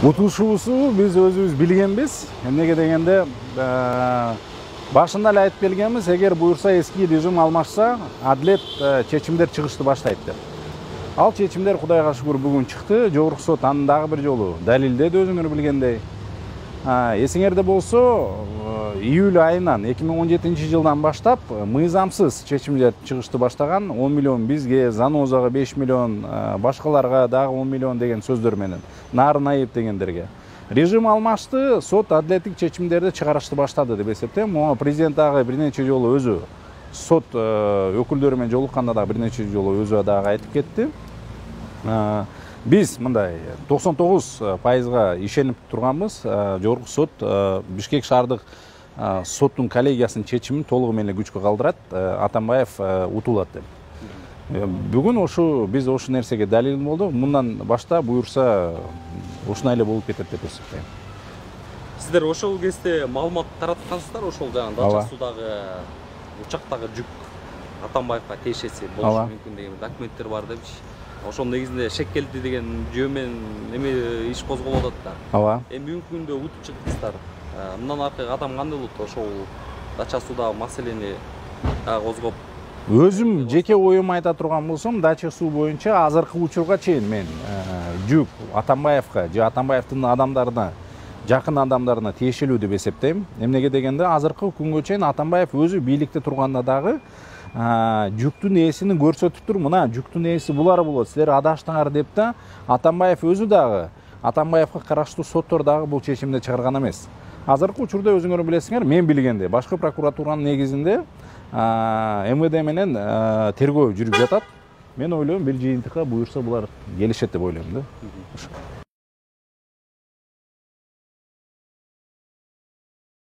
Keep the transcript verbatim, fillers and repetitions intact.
Утушуусу биз өзүбүз билгенбиз. Эмнеге дегенде башында эле айтып келгенбиз, эгер буюрса эски режим алмашса, адилет чечимдер чыгышты баштайт деп. Ал чечимдер Кудайга шүгүр бүгүн чыкты. Жогорку сот аны дагы бир жолу далилдеди өзүңөр билгендей. Эсиңерде болсо, июль айынан эки миң он жетинчи жылдан баштап мыйзамсыз чечимдер чыгышты баштаган. он миллион бизге, Занозага беш миллион, башкаларга дагы он миллион деген сөздөр менен, Нарын Айып дегендерге. Режим алмашты, сот адилеттик чечимдерди чыгарышты баштады деп эсептейм. Моңа президент дагы бир нече жолу өзү сот өкүлдөрү менен жолукканда дагы бир нече жолу өзү дагы айтып кетти. Биз мындай токсон тогуз пайызга ишенип турганбыз. Жогорку сот Бишкек шаардык соттун коллегиясынын чечимин толугу менен күчкө калтырат, Атамбаев утулат деп. Бүгүн ошу биз ошу нерсеге далил болдук. Мындан башта буюрса ушундай эле болуп кетет деп эсептейм. Сиздер ошол кезде маалымат тараткансыздар, ошол жана Дача судагы учактагы жүк Атамбаевга тиешеси болушу мүмкүн деген документтер бар депчи. Ошол негизинде шек келди деген жөө менен эме иш козголуп атат да. Ооба. Эми бүгүнкү күндө утуп чыктыңыздар. Мындан аркы кадам кандай болот? Ошол Дача судагы маселени козгоп. Өзүм жеке оюм айта турган болсом, Дача суу боюнча азыркы учурга чейин мен жүк Атамбаевга же Атамбаевдин адамдарына, жакын адамдарына тиешелүү деп эсептейм. Эмнеге дегенде, азыркы күнгө чейин Атамбаев өзү бийликте турганда дагы жүктүн ээсини көрсөтүп тур, мына жүктүн ээси булар болот, силер адаштыңар деп да, Атамбаев өзү дагы, Атамбаевга караштуу соттор дагы бул чечимди чыгарган эмес. Азыркы учурда өзүңөр билесиңер, мен билгенде, башкы прокуратуранын негизинде эм вэ дэ менен тергөө жүрүп жатат. Мен ойлойм, бир жыйынтыкка буюрса булар келишет деп ойлойм да.